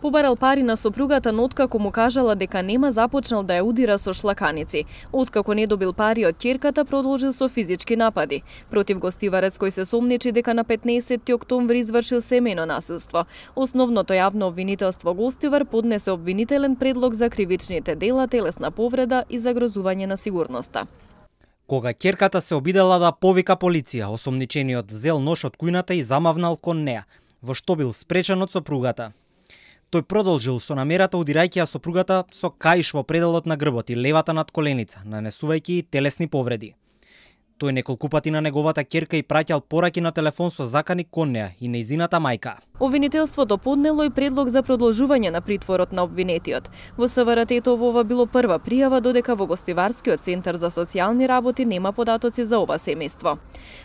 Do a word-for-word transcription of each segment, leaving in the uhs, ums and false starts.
Побарал пари на сопругата, но откако му кажала дека нема, започнал да ја удира со шлаканици. Откако не добил пари од ќерката, продолжил со физички напади. Против гостиварец кој се сомнечи дека на петнаесетти октомври извршил семејно насилство. Основното јавно обвинителство гостивар поднесе обвинителен предлог за кривичните дела, телесна повреда и загрозување на сигурноста. Кога ќерката се обидела да повика полиција, осомничениот зел нош од кујната и замавнал кон неа, во што бил спречен од сопругата. Тој продолжил со намерата удирајќи ја сопругата со каиш во пределот на грбот и левата над коленица, нанесувајќи телесни повреди. Тој неколку пати на неговата ќерка и праќал пораки на телефон со закани кон неа и нејзината мајка. Обвинителството поднело и предлог за продолжување на притворот на обвинетиот. Во СВР-тето ова било прва пријава, додека во Гостиварскиот центар за социјални работи нема податоци за ова семејство.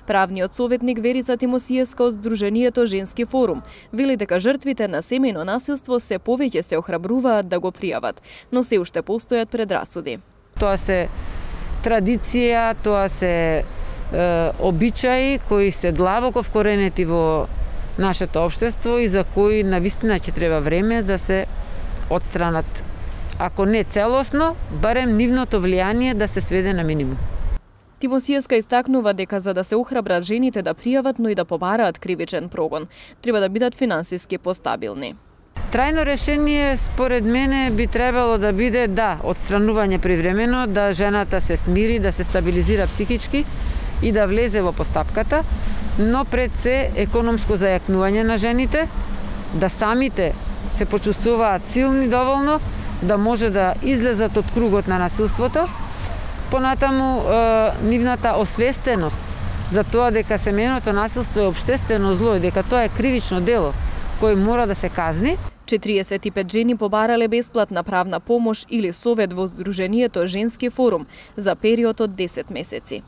Правниот советник Верица Тимосиевска од Сдруженијето Женски форум вели дека жртвите на семејно насилство се повеќе се охрабруваат да го пријават, но се уште постојат предрасуди. Тоа се традиција, тоа се е, обичаи кои се длабоко вкоренети во нашето општество и за кои навистина ќе треба време да се отстранат. Ако не целосно, барем нивното влијание да се сведе на минимум. Тимосиевска истакнува дека за да се охрабрат жените да пријават, но и да побараат кривичен прогон, треба да бидат финансиски постабилни. Трајно решение, според мене, би требало да биде да, отстранување привремено, да жената се смири, да се стабилизира психички и да влезе во постапката, но пред се економско зајакнување на жените, да самите се почувствуваат силни доволно, да може да излезат од кругот на насилството, понатаму е, нивната освестеност за тоа дека семејното насилство е општествено зло и дека тоа е кривично дело кој мора да се казни. четириесет и пет жени побарале бесплатна правна помош или совет во Сдруженијето Женски форум за период од десет месеци.